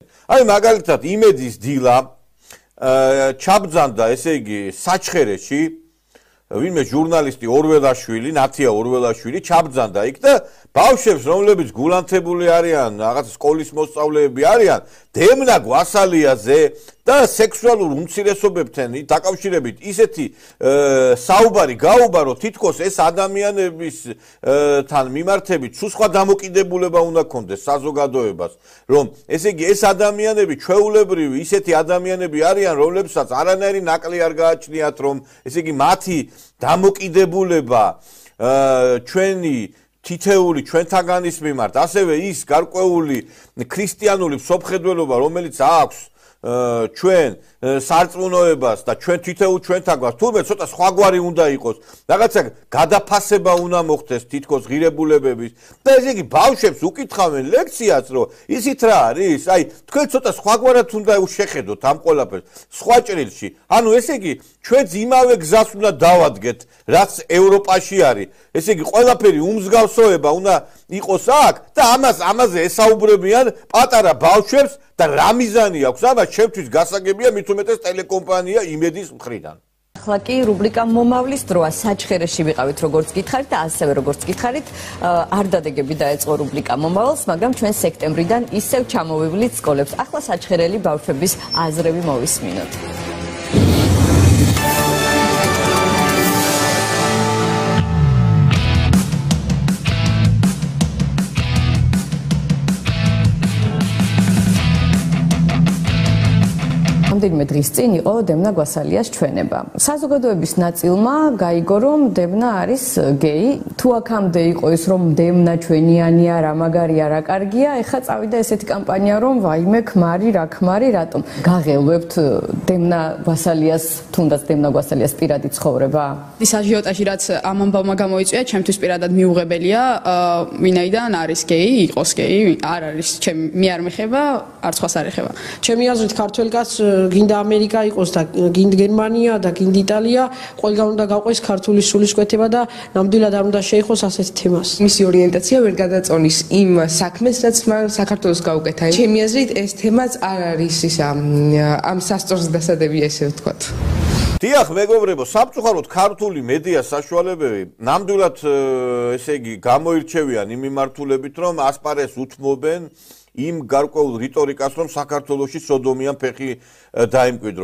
აი მაგალითად იმედის დილა ჩაბძანდა, ესე იგი, საჩხერეში ვინმე ჟურნალისტი ორველაშვილი, ნათია ორველაშვილი ჩაბძანდა იქ და ბავშვებს, რომლებიც გულანთებული არიან, რაღაც სკოლის მოსწავლეები არიან, დემნა გვასალიაზე და სექსუალურ უმცირესობებთან დაკავშირებით ისეთი საუბარი გაუბარო, თითქოს ეს ადამიანების თან მიმართებით სულ სხვა დამოკიდებულება უნდა ქონდეს საზოგადოებას, რომ ესე იგი ეს ადამიანები ჩვეულებრივი ისეთი ადამიანები არიან, რომლებსაც არანაირი ნაკლი არ გააჩნიათ, რომ ესე იგი მათი დამოკიდებულება ჩვენი თითეული ჩვენთაგანის მიმართ, ასევე ის გარკვეული ქრისტიანული მსოფლმხედველობა, რომელიც აქვს ჩვენ სარწმუნოებას და ჩვენ თითოეულ ჩვენთაგანს, თურმე ცოტა სხვაგვარი უნდა იყოს, რაღაცა გადაფასება უნდა მოხდეს თითქოს ღირებულებების და ესე იგი ბავშვებს უკითხავენ ლექციას, რომ ისიც რა არის, აი თქვენ ცოტა სხვაგვარად უნდა შეხედოთ ამ ყველაფერს, სხვა ჭრილში. ანუ ესე იგი ჩვენც იმავე გზას უნდა დავადგეთ, რაც ევროპაში არის. ესე იგი ყველაფერი უმსგავსოება უნდა იყოს აქ და ამაზე ესაუბრებიან პატარა ბავშვებს და რა მიზანი აქვს ამას ჩემთვის გასაგებია მით უმეტეს ტელეკომპანია იმედის მხრიდან. ახლა კი რუბრიკა მომავლის დროა საჩხერეში ვიყავით როგორც გითხარით და ასევე როგორც გითხარით არ დადეგები დაეწყო რუბრიკა მომავალს, მაგრამ ჩვენ სექტემბრიდან ისევ ჩამოვივლით სკოლებს. ახლა საჩხერელი ბავშვების აზრები მოვისმინოთ. რამდენიმე დღის წინ იყო დემნა გვასალიას ჩვენება. საზოგადოების ნაწილმა გაიგო, რომ დემნა არის გეი. თუ აქამდე იყო ის, რომ დემნა ჩვენიანია, რა მაგარია, რა კარგია, ეხლა წავიდა ესეთი კამპანია, რომ ვაიმე, ქმარი, რა ქმარი, რატომ? გაღელვებთ დემნა გვასალიას, თუნდაც დემნა გვასალიას პირადი ცხოვრება? ის აჟიოტაჟი, რაც ამ ამბავმა გამოიწვია, ჩემთვის პირადად მიუღებელია, ვინაიდან არის გეი, იყოს გეი, არ არის, მე არ მეხება, არც სხვას არ ეხება. ჩემი აზრით ქართველ კაცს გინდა ამერიკა იყოს და გინდა გერმანია და გინდა იტალია, ყველგან უნდა გაყვეს ქართული სულისკვეთება და ნამდვილად არ უნდა შეეხოს ასეთ თემას. მისი ორიენტაცია ვერ გადაწონის იმ საქმეს, რაც მან საქართველოს გაუკეთა. ჩემი აზრით ეს თემაც არ არის ის ამ სასწორს დასადებია, ესე ვთქვათ. დიახ, მეგობრებო, სამწუხაროდ ქართული მედია საშუალებები ნამდვილად ესე იგი გამოირჩევიან იმ მიმართულებით, რომ ასპარეზს უთმობენ იმ გარკვეულ რიტორიკას, რომ საქართველოში სოდომიან ფეხი დაიმკვიდროს.